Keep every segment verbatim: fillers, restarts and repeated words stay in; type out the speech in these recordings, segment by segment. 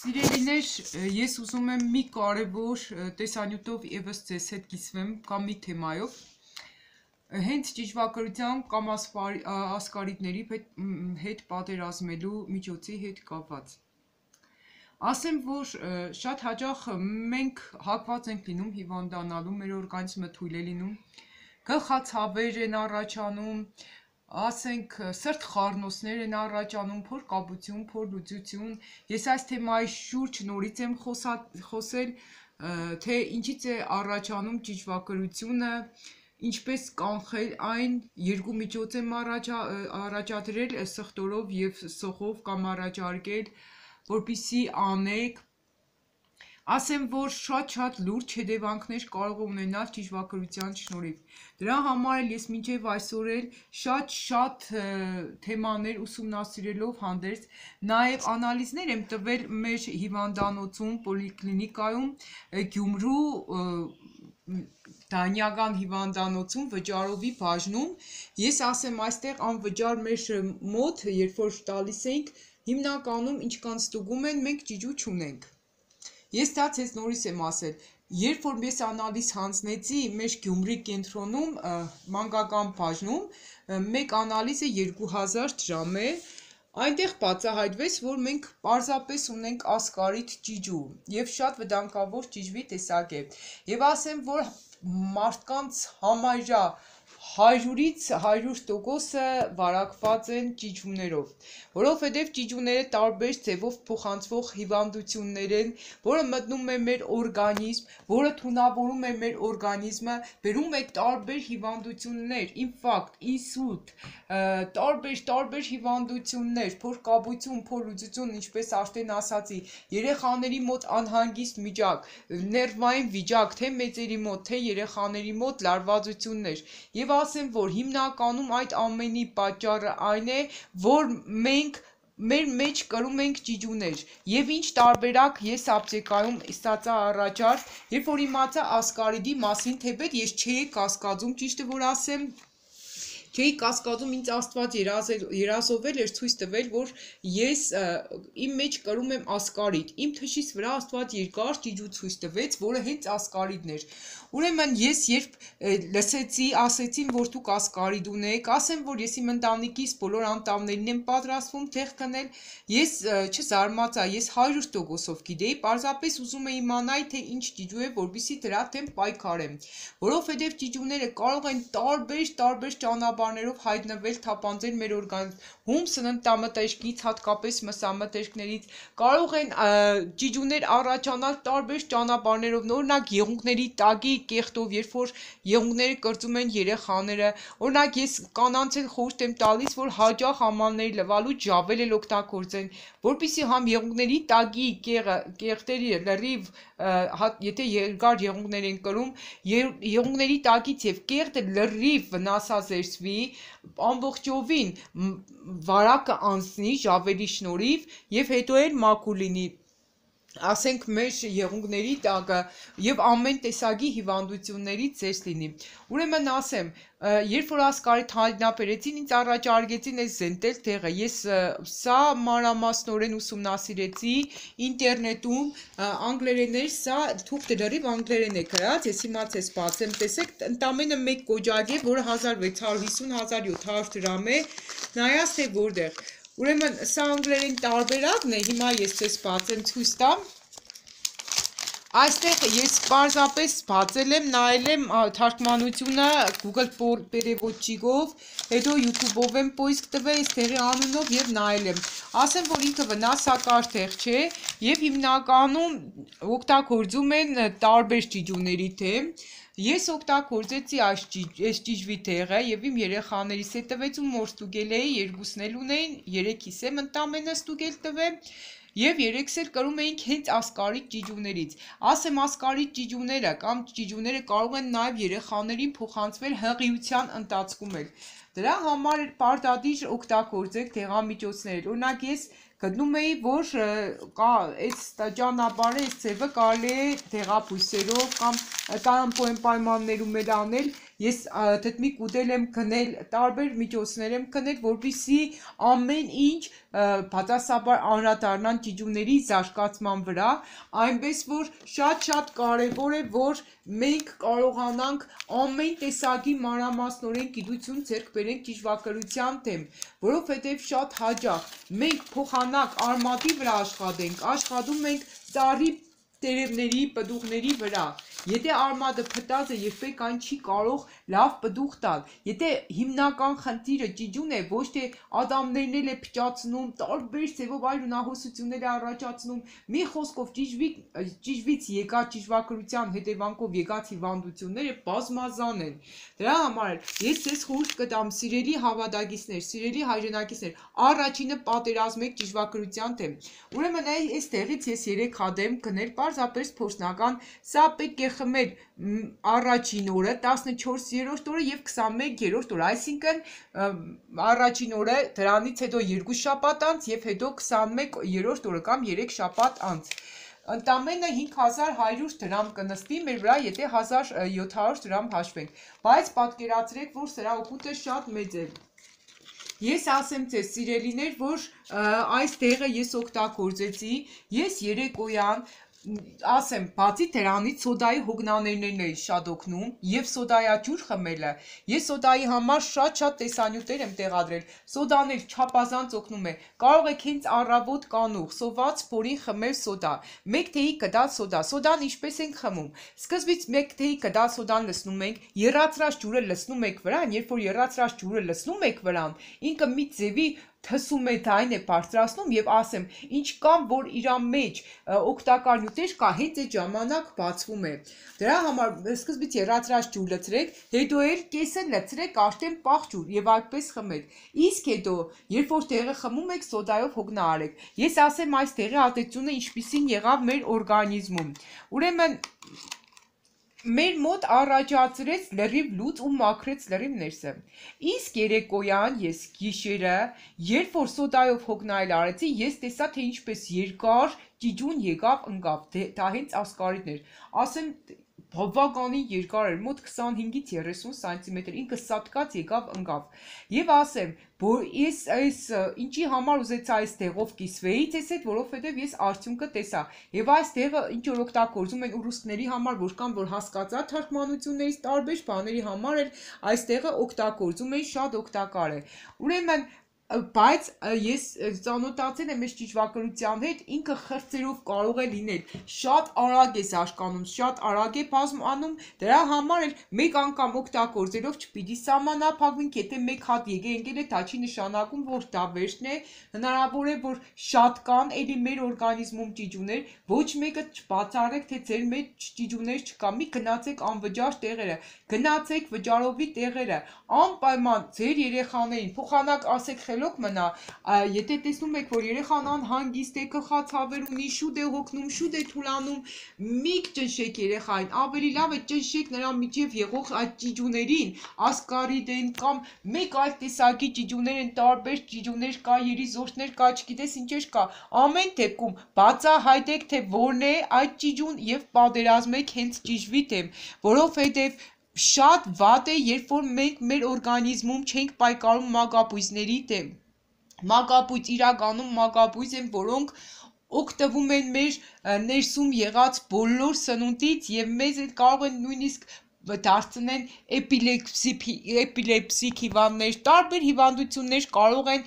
Սիրելիներ, ես ուզում եմ մի կարևոր տեսանյութով եւս ձեզ հետ կիսվեմ կամ մի թեմայով, հենց ճիճվակրության կամ ասկարիդների հետ պատերազմելու միջոցի հետ կապված։ Ասեմ, որ շատ հաճախ մենք հակված ենք լինում հիվանդանալու, մեր օրգանիզմը թույլ է լինում, գլխացավեր են առաջանում, ասենք սրտխառնոցներ են առաջանում, փորկապություն, փորլուծություն, ես այս թեմայի շուրջ նորից եմ խոսել, թե ինչից է առաջանում ճիճվակրությունը, ինչպես կանխել այն, երկու միջոց եմ առաջադրել սխտորով և սոխով կամ առաջարկել, որպեսզի անեք, ասեմ, որ շատ-շատ լուրջ հետևանքներ կարող է ունենալ ճիճվակրության շնորհիվ։ Դրա համար էլ ես մինչև այսօր էլ շատ-շատ թեմաներ ուսումնասիրելով հանդերձ, նաև անալիզներ եմ տվել մեր հիվանդանոցում, պոլիկլինիկայում, Գյումրու Դանիական հիվանդանոցում, վճարովի բաժնում, ես ասեմ այստեղ անվճար մեր մոտ, երբ որ տալիս ենք, հիմնականում ինչքան ստուգում են, մենք ճիճու չունենք։ Ես դա ցեզ նորից եմ ասել, երբ որ ես անալիզ հանձնեցի մեր Գյումրի կենտրոնում, մանկական բաժնում, մեկ անալիզը երկու հազար դրամ է, այնտեղ բացահայտվեց, որ մենք պարզապես ունենք ասկարիդ ճիճու և շատ վտանգավոր ճիճվի տեսակ է, և ասեմ, որ մարդկանց համարյա հարյուրից հարյուր տոկոսը վարակված են ճիճուներով, որովհետև ճիճուները տարբեր ձևով փոխանցվող հիվանդություններ են, որը մտնում է մեր օրգանիզմ, որը թունավորում է մեր օրգանիզմը, բերում է տարբեր հիվանդություններ, ինֆարկտ, ինսուլտ, տարբեր-տարբեր հիվանդություններ, փորկապություն, փորլուծություն, ինչպես արդեն ասացի, երեխաների մոտ անհանգիստ վիճակ, ներվային վիճակ, թե մեծերի մոտ, թե երեխաների մոտ լարվածություններ, և ասեմ, որ հիմնականում այդ ամենի պատճառը այն է, որ մենք մեր մեջ կրում ենք ճիճուներ, և ինչ տարբերակ ես ապտեկայում ստացա առաջարկ, երբ որ իմացա ասկարիդի մասին, թեպետ ես չէի կասկածում, ճիշտը որ ասեմ, չէի կասկածում, ինձ Աստված երազովել էր ցույց տվել, որ ես իմ մեջ կրում եմ ասկարիդ, իմ թշից վրա Աստված երկար ճիճու ցույց տվեց, որը հենց ասկարիդն էր, ուրեմն ես երբ լսեցի, ասեցին, որ դուք ասկարիդ ունեք, ասեմ, որ ես իմ ընտանիքիս բոլոր անդամներին եմ պատրաստվում թեղ քնել, ես չզարմացա, ես հարյուր տոկոսով գիտեի, պարզապես ուզում էի իմանալ, թե ինչ ճիճու է, որպեսզի դրա դեմ պայքարեմ, որովհետև ճիճուները կարող են տարբեր-տարբեր ճանապարհներով հայտնվել, թափանցել մեր օրգանիզմ սննդամթերքից, հատկապես մսամթերքներից, կարող են ճիճուներ առաջանալ տարբեր ճանապարհներով, օրինակ եղունգների տակի կեղտով, երբ որ եղունգները կրծում են երեխաները, օրինակ ես կանանց էլ խորհուրդ եմ տալիս, որ հաճախ ամանների լվալուց ժավել էլ օգտագործեն, որպեսզի համ եղունգների տակի կեղտերի լրիվ, եթե երկար եղունգներ են կրում, եղունգների տակից և կեղտը լրիվ վնասազերծվի, ամբողջովին վարակը անցնի ժավելի շնորհիվ և հետո էլ մաքուր լինի, ասենք մեր եղունգների տակը և ամեն տեսակի հիվանդություններից զերծ լինի, ուրեմն ասեմ, երբ որ ասկարիդ հայտնաբերեցին, ինձ առաջարկեցին այս զենտել տեղը, ես սա մանրամասնորեն ուսումնասիրեցի ինտերնետում, անգլերեն էր, սա թուղթը լրիվ անգլերեն է գրած, ես հիմա ցես բացեմ, տեսեք, ընդամենը մեկ կոճակ է, որը հազար վեց հարյուր հիսուն - հազար յոթ հարյուր դրամ է, նայած թե որտեղ, ուրեմն սա անգլերեն տարբերակն է, հիմա ես ցես բացեմ ցույց տամ, այստեղ ես պարզապես բացել եմ, նայել եմ թարգմանությունը Google Perevodчикով, հետո YouTube-ով եմ պոիսկ տվել, այս տեղի անունով և նայել եմ, ասեմ, որ ինքը վնասակար տեղ չէ և հիմնականում օգտագործում են տարբեր ճիճուների դեմ, ես օգտագործեցի այս ճիճվի տեղը և իմ երեխաներիս հետ տվեց ու որ ստուգել էի, երկուսն էլ ունեին, երեքիս եմ ընդամենը ստուգել տվել և երեքս էլ կրում էինք հենց ասկարիդ ճիճուներից, ասեմ ասկարիդ ճիճուները կամ ճիճուները կարող են նաև երեխաներին փոխանցվել հղիության ընթացքում էլ, դրա համար պարտադիր օգտագործեք դեղամիջոցներ, օրինակ ես գտնում էի, որ այս ճանապարհը, այս ձևը կարելի է դեղաբույսերով կամ կարամ պայմաններում էլ անել, ես թթմիկ ուտել եմ գնել, տարբեր միջոցներ եմ գնել, որպեսզի ամեն ինչ բացասաբար անդրադառնան ճիճուների զարգացման վրա, այնպես որ շատ-շատ կարևոր է, որ մենք կարողանանք ամեն տեսակի մանրամասնորեն գիտություն ձեռք բերենք ճիճվագրության թեմ, որովհետև շատ հաճախ մենք փոխանակ արմատի վրա աշխատենք, աշխատում ենք ծառի տերևների, պտուղների վրա, եթե արմատը փտած է, երբեք այն չի կարող լավ պտուղ տալ, եթե հիմնական խնդիրը ճիճուն է, ոչ թե ադամներն էլ է փճացնում, տարբեր ձևով այլ ունահոսություններ է առաջացնում, մի խոսքով ճիճվից եկած ճիճվագրության հետևանքով եկած հիվանդությունները բազմազան են, դրա համար ես ձեզ խորհուրդ կտամ սիրելի հավատակիցներ, սիրելի հայրենակիցներ, առաջինը պատերազմեք ճիճվագրության թեմ, ուրեմն այստեղից ես երեք հատ եմ գնել, պարզապես փորձնական, սա պետք է խմել առաջին օրը, տասնչորսերորդ օրը և քսանմեկերորդ օրը, այսինքն առաջին օրը դրանից հետո երկու շաբաթ անց և հետո քսանմեկերորդ օրը կամ երեք շաբաթ անց։ Ընդամենը հինգ հազար հարյուր դրամ կնստի մեր վրա, եթե հազար յոթ հարյուր դրամ հաշվենք, բայց պատկերացրեք, որ սրա օգուտը շատ մեծ է։ Ես ասեմ ձեզ սիրելիներ, որ այս տեղը ես օգտագործեցի, ես երեկոյան ասեմ, բացի դրանից սոդայի հոգնաներներն էի շատ օգնում և սոդայաջուր խմելը, ես սոդայի համար շատ-շատ տեսանյութեր եմ տեղադրել, սոդաներ չափազանց օգնում է, կարող եք հենց առավոտ կանուխ, սոված փորին խմել սոդա, մեկ թեյի կդած սոդա, սոդան ինչպես ենք խմում, սկզբից մեկ թեյի կդած սոդան լցնում ենք, եռացրած ջուրը լցնում եք վրան, երբ որ եռացրած ջուրը լցնում եք վրան, ինքը մի ձևի թսում է դայն է բարձրացնում և ասեմ, ինչ կամ որ իրա մեջ օգտակար նյութեր կա, հենց այդ ժամանակ բացվում է։ Դրա համար սկզբից եռացրած ջուր լցրեք, հետո էլ կեսը լցրեք արդեն պաղ ջուր և այդպես խմեք։ Իսկ հետո, երբ որ տեղը խմում եք, սոդայով հոգնա արեք։ Ես ասեմ այս տեղի ազդեցությունը ինչպիսին եղավ մեր օրգանիզմում։ Ուրեմն մեր մոտ առաջացրեց լրիվ լուծ ու մաքրեց լրիվ ներսը։ Իսկ երեկոյան ես գիշերը, երբ որ սոդայով հոգնայել արեցի, ես տեսա, թե ինչպես երկար ճիճուն եկավ ընկավ, դա հենց ասկարիդներ, ասեմ բավականին երկար էր, մոտ քսանհինգից երեսուն սանտիմետր, ինքը սատկած եկավ ընկավ։ Եվ ասեմ, որ ես այս ինչի համար ուզեցա այս տեղով կիսվեի ձեզ հետ, որովհետև ես արդյունքը տեսա։ Եվ այս տեղը ինչ որ օգտագործում են ուռուստների համար, որ կան որ հասկացա թարգմանություններից տարբեր բաների համար էլ այս տեղը օգտագործում են, շատ օգտակար է։ Ուրեմն բայց ես ծանոթացել եմ այս ճիճվագրության հետ, ինքը խրձերով կարող է լինել, շատ արագ է զարգանում, շատ արագ է բազմանում, դրա համար էլ մեկ անգամ օգտագործելով չպիտի սահմանափակվենք, եթե մեկ հատ եկե ընկել է, դա չի նշանակում, որ դա վերջն է, հնարավոր է, որ շատ կան էլի մեր օրգանիզմում ճիճուներ, ոչ մեկը չբացառեք, թե ձեր մեջ ճիճուներ չկա, մի գնացեք անվճար տեղերը, գնացեք վճարովի տեղերը, անպայման ձեր երեխաներին փոխանակ ասեք խելոք մնա, եթե տեսնում եք, որ երեխան անհանգիստ է, գլխացավեր ունի, շուտ է հոգնում, շուտ է թուլանում, մի ճնշեք երեխային, ավելի լավ է ճնշեք նրա միջև եղող այդ ճիճուներին, ասկարիդ են կամ մեկ այլ տեսակի ճիճուներ են, տարբեր ճիճուներ կա, երիզորդներ կա, չգիտես ինչեր կա, ամեն դեպքում բացահայտեք, թե որն է այդ ճիճուն և պատերազմեք հենց ճիճվի դեմ, որովհետև շատ վատ է, երբ որ մենք մեր օրգանիզմում չենք պայքարում մագաբույծների դեմ։ Մագաբույծ իրականում մագաբույծ են, որոնք օգտվում են մեր ներսում եղած բոլոր սնունդից և մեզ կարող են նույնիսկ դարձնեն էպիլեպսիկ հիվանդներ, տարբեր հիվանդություններ կարող են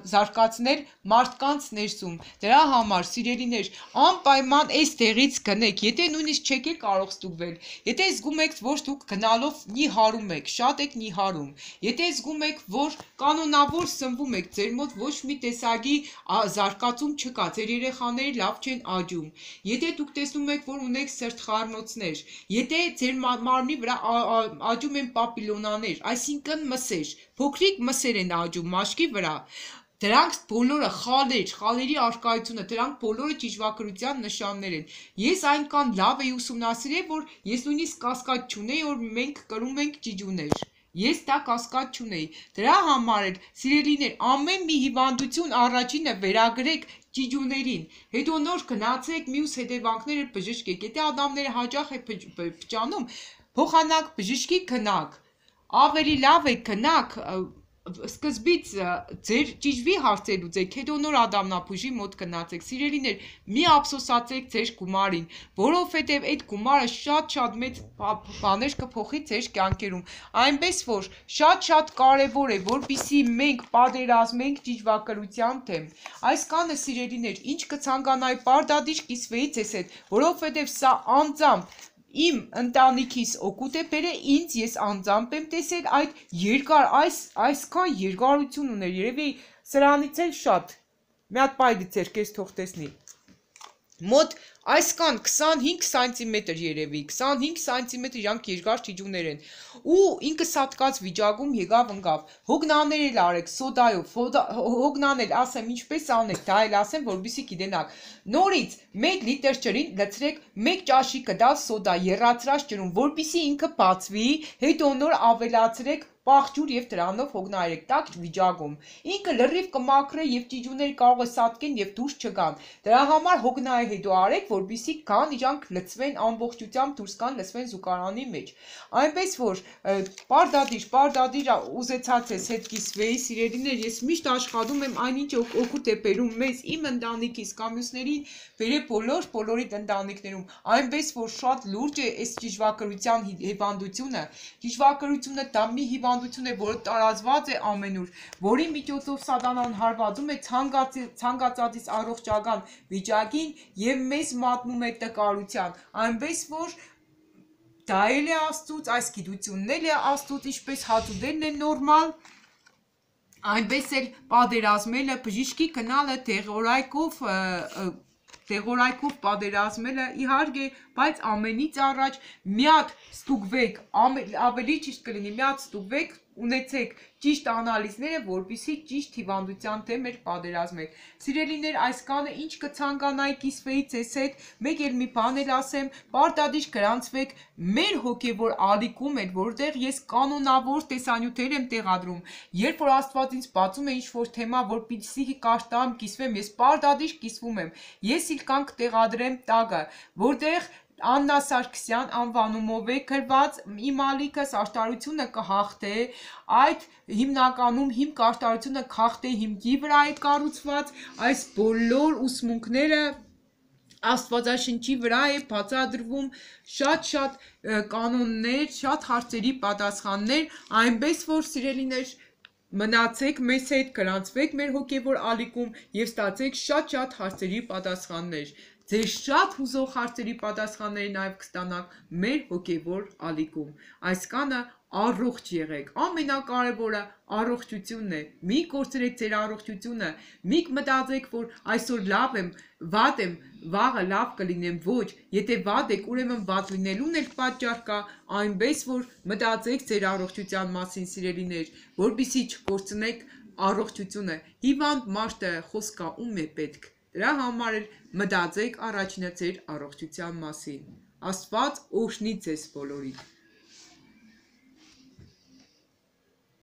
զարգացնել մարդկանց ներսում։ Դրա համար, սիրելիներ, անպայման այս տեղից գնեք, եթե նույնիսկ չեք կարող ստուգվել, եթե զգում եք, որ դուք գնալով նիհարում եք, շատ եք նիհարում, եթե զգում եք, որ կանոնավոր սնվում եք, ձեր մոտ ոչ մի տեսակի զարգացում չկա, ձեր երեխաները լավ չեն աճում, եթե դուք տեսնում եք, որ ունեք սրտխառնոցներ, եթե ձեր մարմնի վրա աճում են պապիլոնաներ, այսինքն մսեր, փոքրիկ մսեր են աճում մաշկի վրա, դրանք բոլորը խալեր, խալերի առկայությունը, դրանք բոլորը ճիճվագրության նշաններ են։ Ես այնքան լավ էի ուսումնասիրել, որ ես նույնիսկ կասկած չունեի, որ մենք կրում ենք ճիճուներ։ Ես դա կասկած չունեի։ Դրա համար էլ, սիրելիներ, ամեն մի հիվանդություն առաջինը վերագրեք ճիջուներին, հետո նոր գնացեք մյուս հետևանքները բժշկեք, եթե ադամները հաճախ է փճանում, փոխանակ բժշկի գնաք, ավելի լավ է գնաք, սկզբից ձեր ճիժվի հարցեր լուծեք, հետո նոր ադամնաբույժի մոտ գնացեք, սիրելիներ, մի ափսոսացեք ձեր գումարին, որովհետև այդ գումարը շատ-շատ մեծ բաներ կփոխի ձեր կյանքերում, այնպես որ շատ-շատ կարևոր է, որպեսզի մենք պատերազմենք ճիժվակրության դեմ, այս կանը սիրելիներ, ինչ կցանկանայի պարտադիր կիսվեի ձեզ հետ, որովհետև սա անձամբ իմ ընտանիքիս օգուտ է բերել, ինձ ես անձամբ եմ տեսել այդ երկար, այս, այսքան երկարություն ուներ, երևի սրանից էլ շատ, մի հատ պայ գցեր, կես թող տեսնի, մոտ այսքան քսանհինգ սանտիմետր երևի, քսանհինգ սանտիմետր իրանք երկար ճիջուներ են, ու ինքը սատկած վիճակում եկավ ընկավ, հոգնաներ էլ արեք, սոդայով, հոգնանել ասեմ ինչպես անեք, դա էլ ասեմ, որպեսզի գիտենաք, նորից մեկ լիտր ջրին լցրեք մեկ ճաշի կդալ սոդա եռացրած ջրում, որպեսզի ինքը բացվի, հետո նոր ավելացրեք պաղջուր եւ դրանով հոգնայեք տաք վիճակում, ինքը լրիվ կմաքրե եւ ճիջուները կարող է սատկեն եւ դուրս չգան, դրա համար հոգնայի հետո արեք, որպեսզի կան իրանք լցվեն ամբողջությամբ դուրս գան լցվեն զուգարանի մեջ, այնպես որ պարտադիր, պարտադիր ուզեցած ես հետ կիսվեի, սիրելիներ, ես միշտ աշխատում եմ այնինչ օգուտ է բերում մեզ, իմ ընտանիքիս կամ մյուսներին բերե բոլոր բոլորիդ ընտանիքներում, այնպես որ շատ լուրջ է այս ճիժվակրության հիվանդությունը, ճիժվակրությունը դա մի հիվանդություն է, որը տարածված է ամենուր, որի միջոցով սատանան հարվածում է ցանկացածից առողջական վիճակին եւ մեզ մատնում է տկարության, այնպես որ դա էլ է Աստծուց, այս գիտությունն էլ է Աստծուց, ինչպես հացուդելն է նորմալ, այնպես էլ պատերազմելը, բժշկի գնալը դեղորայքով Դեղորայքով պատերազմելը իհարկե, բայց ամենից առաջ մի հատ ստուգվեք, ավելի ճիշտ կլինի, մի հատ ստուգվեք, ունեցեք ճիշտ անալիզները, որպեսզի ճիշտ հիվանդության դեմ մեր պատերազմեք։ Սիրելիներ, այս կանը ինչ կցանկանայի կիսվեի ձեզ հետ, մեկ էլ մի բան էլ ասեմ, պարտադիր գրանցվեք մեր հոգևոր ալիքում էլ, որտեղ ես կանոնավոր տեսանյութեր եմ տեղադրում, երբ որ Աստված ինձ բացում է ինչ-որ թեմա, որպեսզի կարտամ, կիսվեմ, ես պարտադիր կիսվում եմ, ես իլ կանք տեղադրեմ տագը, որտեղ Աննա Սարգսյան անվանումով է գրված, իմ ալիքս աշտարությունը կհաղթե, այդ հիմնականում հիմք աշտարությունը քաղթե հիմքի վրա է կառուցված, այս բոլոր ուսմունքները Աստվածաշնչի վրա է բացադրվում շատ-շատ կանոններ, շատ հարցերի պատասխաններ, այնպես որ սիրելիներ մնացեք մեզ հետ, գրանցվեք մեր հոգևոր ալիքում և ստացեք շատ-շատ հարցերի պատասխաններ, ձեր շատ հուզող հարցերի պատասխանները նաև կստանաք մեր հոգևոր ալիքում, այս կանը առողջ եղեք, ամենակարևորը առողջությունն է, մի կորցրեք ձեր առողջությունը, մի մտածեք, որ այսօր լավ եմ, վատ եմ, վաղը լավ կլինեմ, ոչ, եթե վատ եք, ուրեմն վատ լինելուն էլ պատճառ կա, այնպես որ մտածեք ձեր առողջության մասին, սիրելիներ, որպեսզի չկորցնեք առողջությունը, հիվանդ մարդը խոսքա ում է պետք, դրա համար էլ մտածեք առաջինը ձեր առողջության մասին, Աստված օրհնի ձեզ բոլորիդ։